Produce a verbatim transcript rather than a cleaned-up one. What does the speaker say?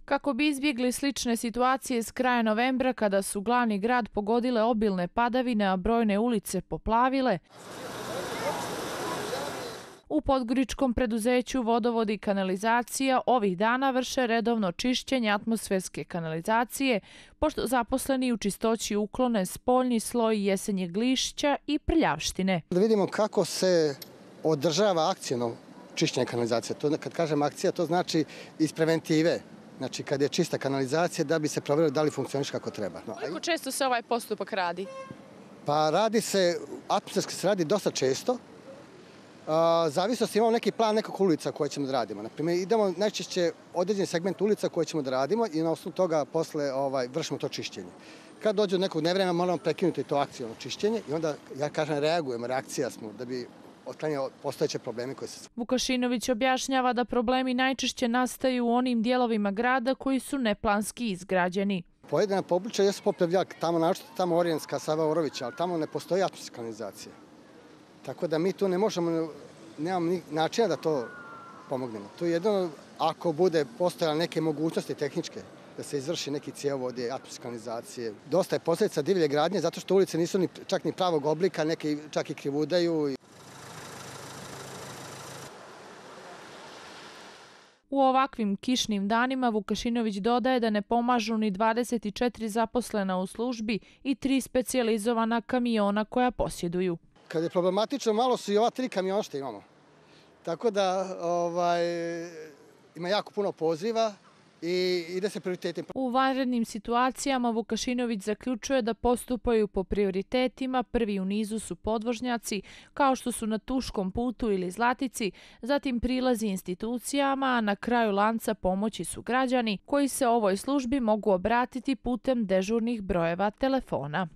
Kako bi izbjegli slične situacije s kraja novembra kada su glavni grad pogodile obilne padavine, a brojne ulice poplavile, u podgoričkom preduzeću Vodovod i kanalizacija ovih dana vrše redovno čišćenje atmosferske kanalizacije, pošto zaposleni u čistoći uklone spoljni sloj jesenjeg lišća i prljavštine. Da vidimo kako se održava akcijno čišćenje kanalizacije. To, kad kažem akcija, to znači iz preventive. Znači, kad je čista kanalizacija, da bi se provjerilo da li funkcioniše kako treba. No, koliko često se ovaj postupak radi? Pa radi se, atmosferski se radi dosta često. Zavisno imamo neki plan nekog ulica koje ćemo da radimo. Naprimjer, idemo najčešće određeni segment ulica koje ćemo da radimo i na osnovu toga posle ovaj, vršimo to čišćenje. Kad dođe do nekog nevremena moramo prekinuti to akcijno čišćenje i onda, ja kažem, reagujemo, reakcija smo da bi otklanjali postojeće probleme koje se... Vukašinović objašnjava da problemi najčešće nastaju u onim dijelovima grada koji su neplanski izgrađeni. Pojedina područja jesu poplavljala, tamo našto tamo Orijenska, Sava Orovića, ali tamo ne postoji atmosferska kanalizacija. Tako da mi tu ne možemo, nemamo načina da to pomognemo. Tu jedino ako bude postojala neke mogućnosti tehničke, da se izvrši neki cjevovodi, atmosferske kanalizacije. Dosta je posljedica divlje gradnje, zato što ulice nisu ni, čak ni pravog oblika, neke čak i krivudaju. U ovakvim kišnim danima Vukašinović dodaje da ne pomažu ni dvadeset četiri zaposlena u službi i tri specijalizovana kamiona koja posjeduju. Kad je problematično, malo su i ova tri kamiona što imamo. Tako da ovaj, ima jako puno poziva i ide se prioritetim. U vanrednim situacijama Vukašinović zaključuje da postupaju po prioritetima. Prvi u nizu su podvožnjaci, kao što su na Tuškom putu ili Zlatici, zatim prilazi institucijama, a na kraju lanca pomoći su građani koji se ovoj službi mogu obratiti putem dežurnih brojeva telefona.